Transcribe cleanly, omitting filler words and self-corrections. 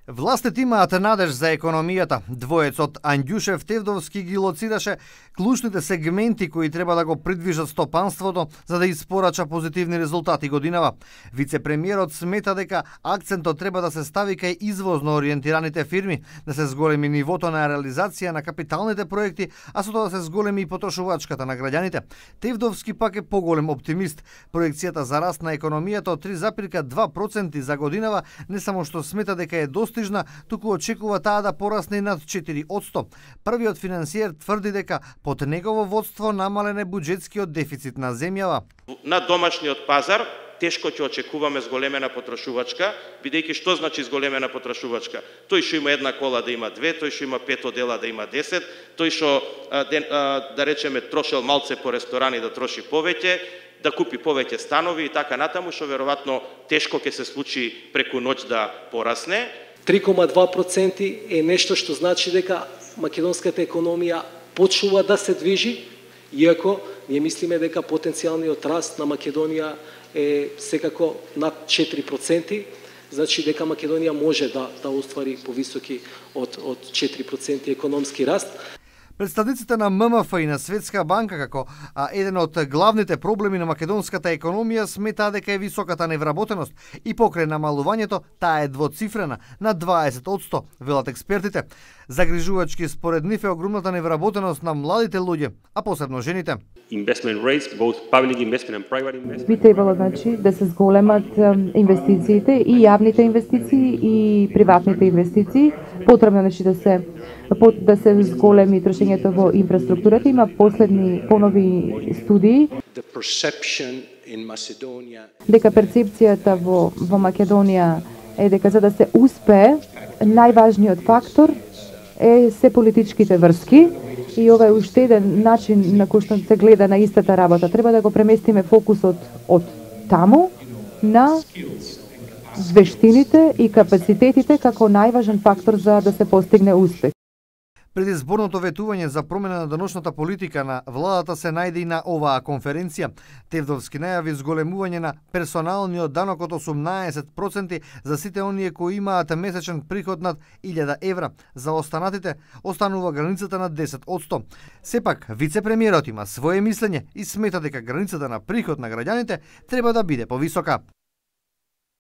Властите имаат надеж за економијата. Двоецот Андјушев Тевдовски ги лоцираше клучните сегменти кои треба да го придвижат стопанството за да испорача позитивни резултати годинава. Вице-премиерот смета дека акцентот треба да се стави кај извозно ориентираните фирми, да се зголеми нивото на реализација на капиталните проекти, а со тоа да се зголеми и потрошувачката на граѓаните. Тевдовски пак е поголем оптимист. Проекцијата за раст на економијата од 3,2% за годинава не само што смета дека е достижна, туку очекува таа да порасне над 4%. Првиот финансиер тврди дека под негово водство намален е буџетскиот дефицит на земјава. На домашниот пазар тешко ќе очекуваме зголемена потрошувачка, бидејќи што значи зголемена потрошувачка? Тој што има една кола да има две, тој што има 5 одела да има 10, тој што да речеме трошел малце по ресторани да троши повеќе, да купи повеќе станови и така натаму, што веројатно тешко ќе се случи преку ноќ да порасне. 3,2% е нешто што значи дека македонската економија почнува да се движи, иако ние мислиме дека потенцијалниот раст на Македонија е секако над 4%, значи дека Македонија може да оствари повисоки од 4% економски раст. Представниците на ММФ и на Светска банка како еден од главните проблеми на македонската економија сметаа дека е високата невработеност и покрај намалувањето таа е двоцифрена на 20%, велат експертите. Загрижувачки според нив е огромната невработеност на младите луѓе, а посебно жените. Би требало да се зголемат инвестициите и јавните инвестиции и приватните инвестиции. Потребно да се зголеми трошењето во инфраструктурата. Има понови студии дека перцепцијата во Македонија е дека за да се успее најважниот фактор е се политичките врски и ова е уште еден начин на кој што се гледа на истата работа. Треба да го преместиме фокусот од таму на вештините и капацитетите како најважен фактор за да се постигне успех. Предизборното ветување за промена на деношната политика на владата се најде и на оваа конференција. Тевдовски најави зголемување на персоналниот данок од 18% за сите оние кои имаат месечен приход над 1000 евра. За останатите останува границата на 10%. Сепак, вице-премиерот има свое мислење и смета дека границата на приход на граѓаните треба да биде повисока.